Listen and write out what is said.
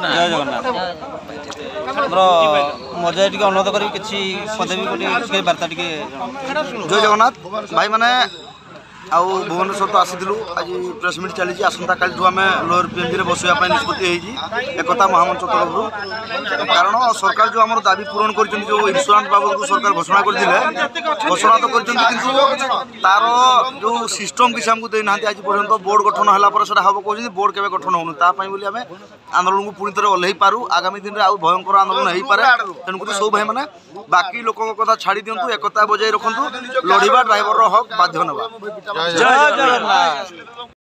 ଜୟ ଜଗନ୍ନାଥ। ଆମର ମଜା ଟିକେ ଅନୁରୋଧ କରିବି, କିଛି ପଦବୀ ଗୋଟେ ବାର୍ତ୍ତା ଟିକେ। ଜୟ ଜଗନ୍ନାଥ ଭାଇମାନେ। ଆଉ ଭୁବନେଶ୍ୱର ତ ଆସିଥିଲୁ, ଆଜି ପ୍ରେସ୍ ମିଟ୍ ଚାଲିଛି। ଆସନ୍ତାକାଲିଠୁ ଆମେ ଲୋୟର ପିଏମ୍ଜିରେ ବସିବା ପାଇଁ ନିଷ୍ପତ୍ତି ହେଇଛି ଏକତା ମହାମଞ୍ଚ ତରଫରୁ। କାରଣ ସରକାର ଯେଉଁ ଆମର ଦାବି ପୂରଣ କରିଛନ୍ତି, ଯେଉଁ ଇନ୍ସୁରାନ୍ସ ବାବଦକୁ ସରକାର ଘୋଷଣା କରିଥିଲେ, ଘୋଷଣା ତ କରିଛନ୍ତି କିନ୍ତୁ ତାର ଯେଉଁ ସିଷ୍ଟମ୍ କିଛି ଆମକୁ ଦେଇନାହାନ୍ତି ଆଜି ପର୍ଯ୍ୟନ୍ତ। ବୋର୍ଡ଼ ଗଠନ ହେଲା ପରେ ସେଟା ହେବ କହୁଛନ୍ତି, ବୋର୍ଡ଼ କେବେ ଗଠନ ହେଉନି। ତା ପାଇଁ ବୋଲି ଆମେ ଆନ୍ଦୋଳନକୁ ପୁଣି ଥରେ ଓହ୍ଲେଇ ପାରୁ। ଆଗାମୀ ଦିନରେ ଆଉ ଭୟଙ୍କର ଆନ୍ଦୋଳନ ହେଇପାରେ। ତେଣୁକରି ସବୁ ଭାଇମାନେ ବାକି ଲୋକଙ୍କ କଥା ଛାଡ଼ି ଦିଅନ୍ତୁ, ଏକତା ବଜାୟ ରଖନ୍ତୁ, ଲଢ଼ିବା, ଡ୍ରାଇଭରର ହକ୍ ବାଧ୍ୟ ନେବା। ଜୟ ଜଗନ୍ନାଥ।